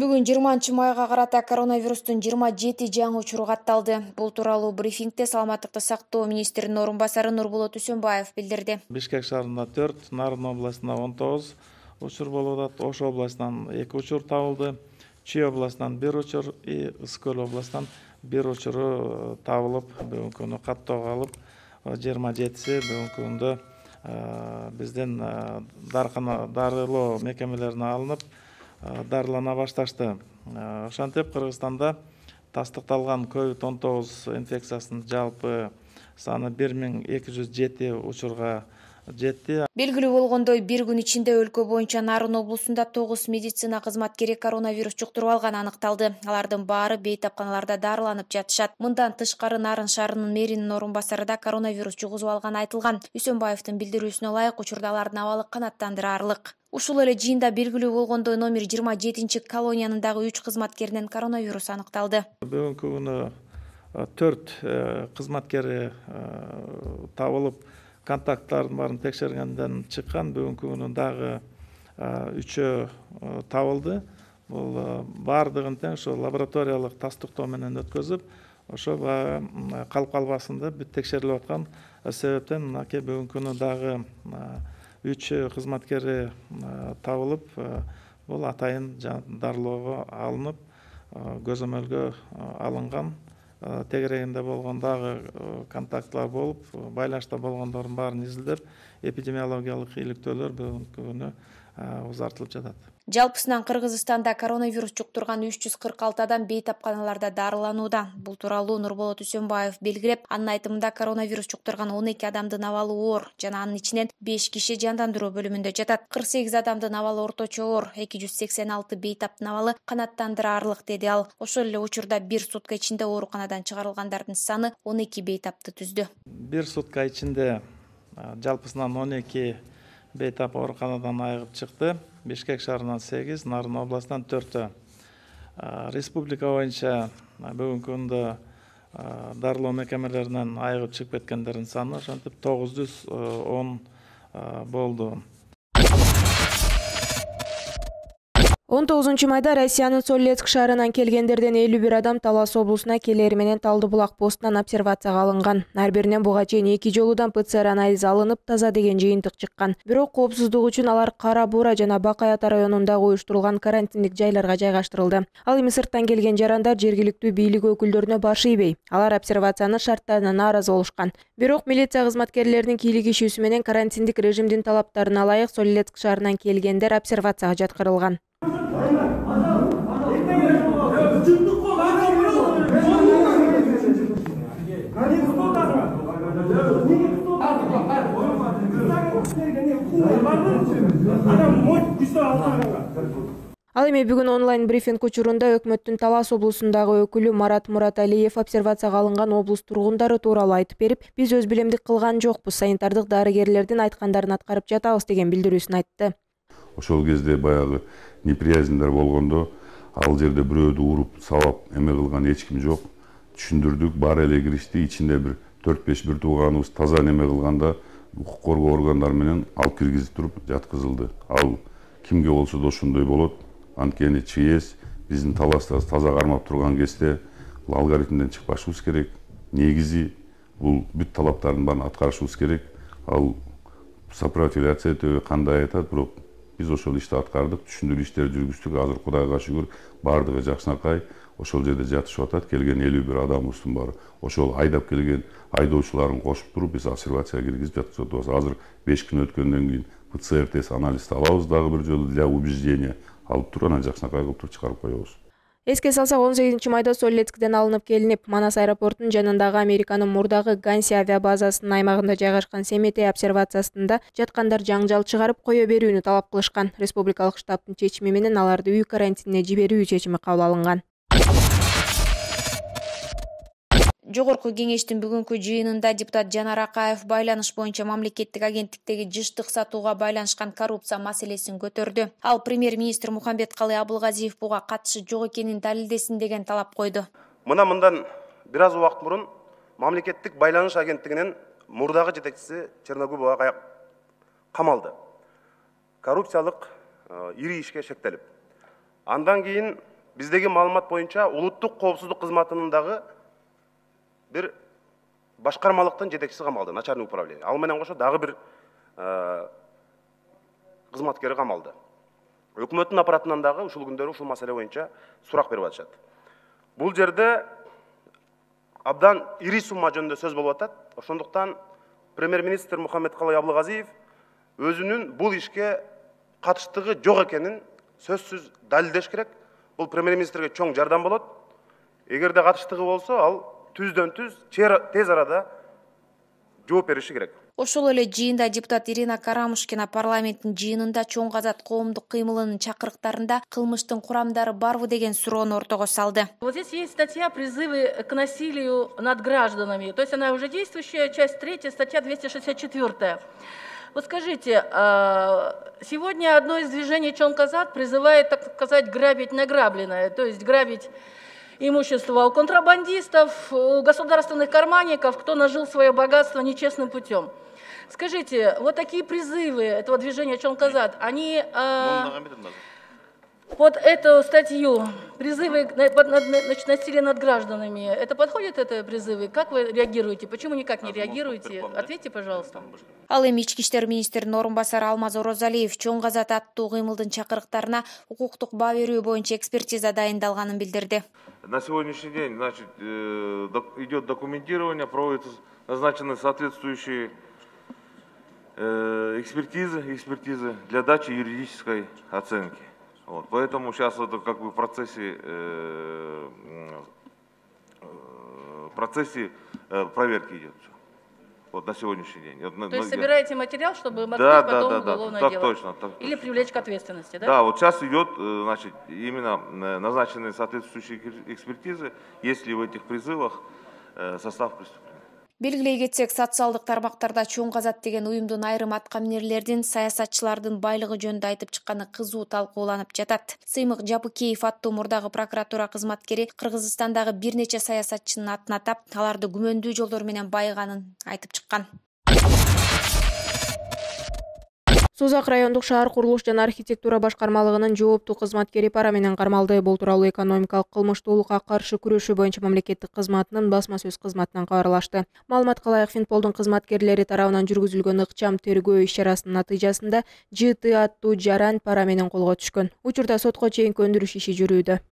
Бүгүн 20-майга карата коронавирустун 27 жаңы учуру катталды. Бул тууралуу брифингде саламаттыкты сактоо министринин орун басары Нурболот Үсөнбаев билдирди. Бишкек шаарында 4, Нарын областында 19 учур болуп атат. Ош областынан 2 учур табылды. Чүй областынан 1 учур, Ысык Көл областынан 1 учуру табылып, бүгүнкү күнү каттоого алып, 27си бүгүнкү күндө биздин дарылоо мекемелерине алынып, дарылана башташты. Ошентип Кыргызстанда тастыкталган COVID-19 инфекциясынын жалпы саны 1207 учурга жетти. Белгилүү болгондой, бир күн ичинде өлкө боюнча Нарын облусунда 9 медицина кызматкери коронавирус жуктуруп алганы аныкталды. Алардын баары бейтапканаларда дарыланып жатышат. Мындан тышкары Нарын шаарынын мэринин орун басары да коронавирус жугузуп алганы айтылган. Үсөнбаевдин билдирүүсүнө ылайык, учурда алардын абалы канааттандырарлык. Ушул эле жыйында белгилүү болгондой, номер 27 колониянын дагы 3 кызматкеринен коронавирус аныкталды. Бүгүнкү күнү 4 кызматкери табылып, контакттардын баарын текшергенден чыккан. Бүгүнкү күнү дагы 3 табылды. Бул баардыгын тең ошо лабораториялык тастыктоо менен өткөзүп, ошо калып калбасын деп текшерилип аткан себептен мынакей бүгүнкү күнү дагы 3 кызматкери табылып, бул атайын дарылоого алынып, көзөмөлгө алынган. Тегерегинде болгон дагы контактлар болуп, байланышта болгондордун баарын изилдеп, эпидемиологиялык иликтөөлөр бүгүнкү күнү узартылып жатат. Жалпысынан Кыргызстанда коронавирус жуктурган 346 адам бейтапканаларда дарыланууда. Бул тууралуу Нурболот Үсөнбаев белгилеп, анын айтымында коронавирус жуктурган 12 адамдын абалы оор жана анын ичинен 5 киши жандандыруу бөлүмүндө жатат. 48 адамдын абалы орточо оор, 286 бейтаптын абалы канааттандырарлык, деди ал. Ошол эле учурда 1 сутка ичинде ооруканадан чыгарылгандардын саны 12 бейтапты түздү. 1 сутка ичинде жалпысынан 12 бейтап ооруканадан айыгып чыкты. Бишкек шаарынан 8, Нарын областынан 4. Республика боюнча бүгүнкү күндө дарылоо мекемелеринен айыгып чыгып кеткендердин саны ошентип 910 болду. 19-майда Россиянын Солецк шаарынан келгендерден 51 адам Талас облусуна келери менен Талды булак постунан обсервацияга алынган. Ар биринен буга чейин 2 жолудан ПЦР анализ алынып, таза деген жыйынтык чыккан. Бирок коопсуздук үчүн алар Кара Буура жана Бакай Ата районундагы уюштурулган карантиндик жайларга жайгаштырылды. Ал эми сырттан келген жарандар жергиликтүү бийлик өкүлдөрүнө баш ийбей, алар обсервациянын шарттарына нааразы болушкан. Бирок милиция кызматкерлеринин кийлик ишүүсү менен карантиндик режимдин талаптарына ылайык Солецк шаарынан келгендер обсервацияга жаткырылган. Ал эми бүгүн онлайн брифинг учурунда өкмөттүн Талас облусундагы өкүлү Марат Мураталиев обсервацияга алынган облус тургундары тууралуу айтып берип, биз өз билемдик кылган жокпуз, санитардык дарыгерлердин айткандарын аткарып жатабыз деген билдирүүсүн айтты. Ошол кезде баягы неприязньдер болгондо ал жерде бирөөдү уруп, сабап эме кылган эч ким жок. Түшүндүрдүк, баары эле киришти, ичинде бир 4-5 бир тууганыбыз таза неме кылганда укук коргоо органдары менен алып киргизип туруп жаткызылды. Ал кимге болсо да ошондой болот. Анткени ЧС биздин Таласта таза кармап турган кезде бул алгоритмден чыкпашыбыз керек. Негизи бул бүт талаптардын баарын аткарышыбыз керек. Ал сопротивляция этеби кандай айтат, бирок биз ошол ишти аткардык, түшүндүрүү иштерди жүргүздүк. Азыр Кудайга шүгүр, баардыгы жакшынакай ошол жерде жатышып атат. Келген 51 адамыбыздын баары ошол айдап келген айдоочуларын кошуп туруп биз обсервацияга киргизип жаткызып атабыз. Азыр 5 күн өткөндөн кийин ПЦР тест анализди алабыз дагы бир жолу для убеждения. Алып туруп анан жакшынакай кылып туруп чыгарып коебуз. Эске салсак, 18-майда Солецктен алынып келинип, Манас аэропортунун жанындагы Американын мурдагы Ганси авиабазасынын аймагында жайгашкан Семетей обсервациясында жаткандар жаңжал чыгарып кое берүүнү талап кылышкан. Республикалык штабтын чечими менен аларды үй карантинине жиберүү чечими кабыл алынган. Жогорку кеңештин бүгүнкү жыйынында депутат Жанар Акаев байланыш боюнча мамлекеттик агенттиктеги жыштык сатууга байланышкан коррупция маселесин көтөрдү. Ал премьер-министр Мухамбеткалый Абылгазиев буга катышы жок экенин далилдесин деген талап койду. Мындан бир аз убакыт мурун мамлекеттик байланыш агенттигинин мурдагы жетекчиси Черногуб буга камалды. Коррупциялык ири ишке шектелип. Андан кийин биздеги маалымат боюнча улуттук коопсуздук кызматынын дагы бир башкармалыктын жетекчиси камалды, начальник управление. Ал менен кошо дагы бир кызматкери камалды. Өкмөттүн аппаратынан дагы ушул күндөрү ушул маселе боюнча сурак берип атышат. Бул жерде абдан ири сумма жөнүндө сөз болуп атат. Ошондуктан премьер-министр Мухаммедкалый Аблыгазиев өзүнүн бул ишке катыштыгы жок экенин сөзсүз далилдеш керек. Бул премьер-министрге чоң жардам болот. Эгерде катыштыгы болсо, ал түздөн-түз тез арада жооп бериши керек. Ошол эле жыйында депутат Ирина Карамушкина парламенттин жыйынында чоң казат коомдук кыймылынын чакырыктарында кылмыштын курамдары барбы деген суроону ортого салды. Вот здесь есть статья «Призывы к насилию над гражданами». То есть она уже действующая, часть 3, статья 264. Вот скажите, сегодня одно из движений «Чоң казат» призывает, так сказать, грабить награбленное, то есть грабить имущество у контрабандистов, у государственных карманников, кто нажил свое богатство нечестным путем. Скажите, вот такие призывы этого движения «Чоң казат», они под эту статью, призывы к насилию над гражданами, это подходит, это призывы? Как вы реагируете? Почему никак не реагируете? Ответьте, пожалуйста. Ал эми ички иштер министринин орун басары Алмаз Орозалиев Чоң казат аттуу кыймылдын чакырыктарына укуктук баа берүү боюнча экспертиза дайындалганын билдирди. На сегодняшний день, значит, идет документирование, проводятся назначены соответствующие экспертизы для дачи юридической оценки. Вот, поэтому сейчас это как бы в процессе проверки идет. Вот на сегодняшний день. То есть собираете материал, чтобы открыть потом уголовное дело? Так точно. Или привлечь к ответственности, да? Да, вот сейчас идет, значит, именно назначенные соответствующие экспертизы, есть ли в этих призывах состав преступления. Белгилей кетсек, социалдык тармактарда Чоң казат деген уюмдун айрым аткаминерлердин, саясатчылардын байлыгы жөнүндө айтып чыкканы кызуу талкууланып жатат. Сыймык Жапыкеев аттуу мурдагы прокуратура кызматкери Кыргызстандагы бир нече саясатчынын атын атап, аларды күмөндүү жолдор менен байыганын айтып чыккан. Созак райондук шаар курулуш жана архитектура башкармалыгынын жооптуу кызматкери пара менен кармалды. Бул тууралуу экономикалык кылмыштуулукка каршы күрөшүү боюнча мамлекеттик кызматынын басма сөз кызматынан кабарлашты. Маалыматка ылайык, Финполдун кызматкерлери тарабынан жүргүзүлгөн ыкчам тергөө иш-чарасынын натыйжасында ЖТ аттуу жаран пара менен колго түшкөн. Учурда сотко чейинки өндүрүш иши жүрүүдө.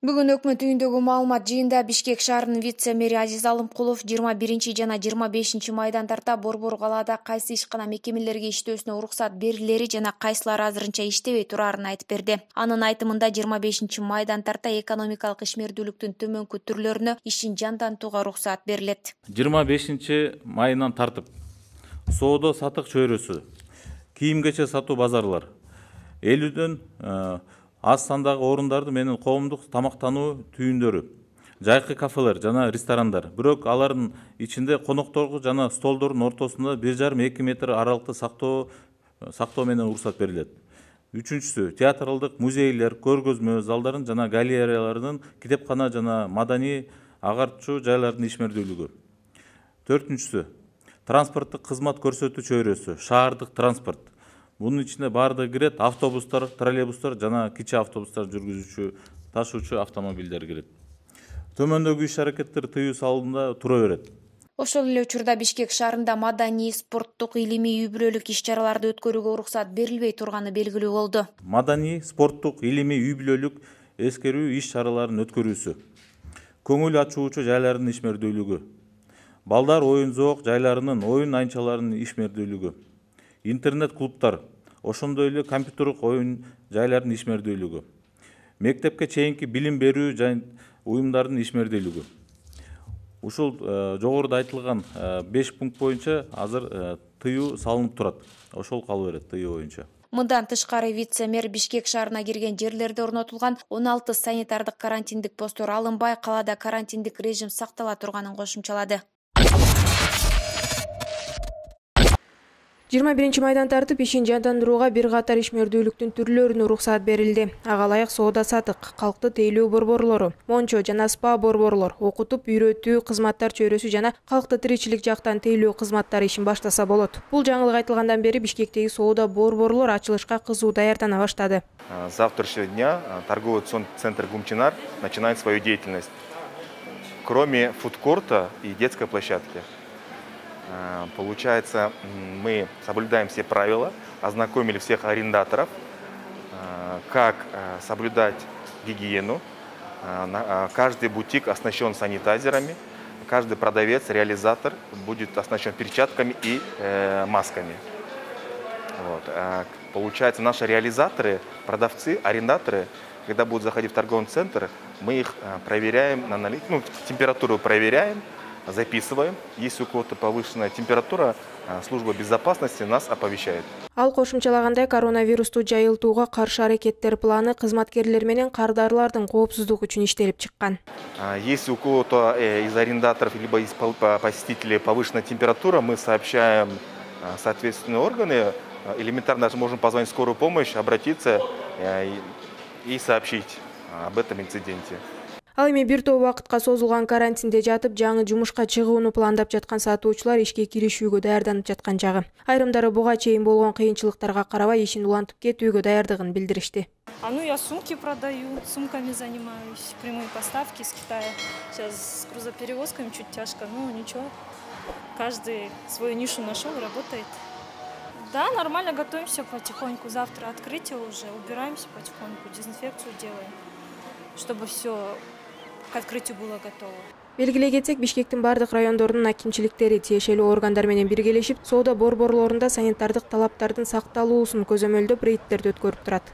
Бүгүн өкмөт үйүндөгү маалымат жыйында Бишкек шаарынын вице-мэри Азиз Алымкулов 21 жана 25 майдан тарта Борбор калаада кайсы ишкана мекемелерге иштөөсүнө уруксат берилери жана кайсылары азырынча иштебей турарын айтып берди. Анын айтымында 25 майдан тарта экономикалык ишмердүүлүктүн төмөнкү түрлөрүнө ишин жандантууга уруксат берилет. 25 майынан тартып соода сатык чөйрөсү, кийим-кечек сатуу базарлар, 50дөн аз сандагы орундарды менен коомдук тамактануу түйүндөрү, жайкы кафелер жана ресторандар. Бирок алардын ичинде конокторго жана столдордун ортосунда 1,5-2 метр аралыкты сактоо менен уруксат берилет. Үчүнчүсү, театралдык музейлер, көргөзмө залдарын жана галереялардын, китепкана жана маданий агартчу жайлардын ишмердүүлүгү. Төртүнчүсү, транспорттук кызмат көрсөтүү чөйрөсү, шаардык транспорт. Bunun içinde barda giret, avtobuslar, троллейбустар жана кичи автобустар жүргүзүүчү, ташуучу автомобилдер кирет. Төмөндөгү иш-аракеттер тыюу салынында тура берет. Ошол эле учурда Бишкек шаарында маданий, спорттук, илимий, үй-бүлөлүк иш-чараларды өткөрүүгө уруксат берилбей турганы белгилүү болду. Маданий, спорттук, илимий, үй-бүлөлүк эскерүү иш-чараларын өткөрүүсү, көңүл ачуучу жайлардын ишмердүүлүгү, балдар оюн-зоок жайларынын, оюн айнчаларынын ишмердүүлүгү, интернет-клубтар, ошондой эле компьютердик оюн жайлардын ишмердүүлүгү, мектепке чейинки билим берүү уюмдардын ишмердүүлүгү. Ушул жогоруда айтылган 5 пункт боюнча азыр тыюу салынып турат. Ошол кала берет тыюу боюнча. Мындан тышкары вице-мэр Бишкек шаарына кирген жерлерде орнотулган 16 санитардык карантиндик посттор алынбай, калаада карантиндик режим сактала турганын кошумчалады. 21-майдан тартып ишин жандандырууга бир катар ишмердүүлүктүн түрлөрүнө уруксат берилди. Ага ылайык соода сатык, калкты тейлөө борборлору, мончо жана спа борборлор, окутуп үйрөтүү кызматтар чөйрөсү жана калкты тиричилик жактан тейлөө кызматтары ишин баштаса болот. Бул жаңылык айтылгандан бери Бишкектеги соода борборлор ачылышка кызуу даярдана баштады. С завтрашнего дня торговый центр Гумчинар начинает свою деятельность. Кроме фудкорта и детской площадки. Получается, мы соблюдаем все правила, ознакомили всех арендаторов, как соблюдать гигиену. Каждый бутик оснащен санитайзерами, каждый продавец, реализатор будет оснащен перчатками и масками. Вот. Получается, наши реализаторы, продавцы, арендаторы, когда будут заходить в торговый центр, мы их проверяем, температуру проверяем, записываем. Если у кого-то повышенная температура, служба безопасности нас оповещает. Ал кошумчалагандай, коронавирусту жайылтууга каршы аракеттер планы кызматкерлер менен кардарлардын коопсуздугу үчүн иштелип чыккан. Если у кого-то из арендаторов либо из посетителей повышенная температура, мы сообщаем соответственные органы. Элементарно даже можем позвонить в скорую помощь, обратиться и сообщить об этом инциденте. Ал эми бир топ убакытка созулган карантинде жатып, жаңы жумушка чыгууну пландап жаткан сатуучулар ишке киришүүгө даярданып жаткан жагы. Айрымдары буга чейин болгон кыйынчылыктарга карабай ишин улантып кетүүгө даярдыгын билдиришти. Я сумки продаю, сумками занимаюсь, прямые поставки из Китая. Сейчас с грузоперевозками чуть тяжко, но ничего. Каждый свою нишу нашел и работает. Да, нормально готовимся потихоньку. Завтра открытие уже, убираемся потихоньку, дезинфекцию делаем, чтобы все к открытию было готово. Белгилей кетсек, Бишкектин бардык райондорунун акимчиликтери тиешелүү органдар менен биргелешип, соода борборлорунда санитардык талаптардын сакталуусун көзөмөлдөп рейдтерди өткөрүп турат.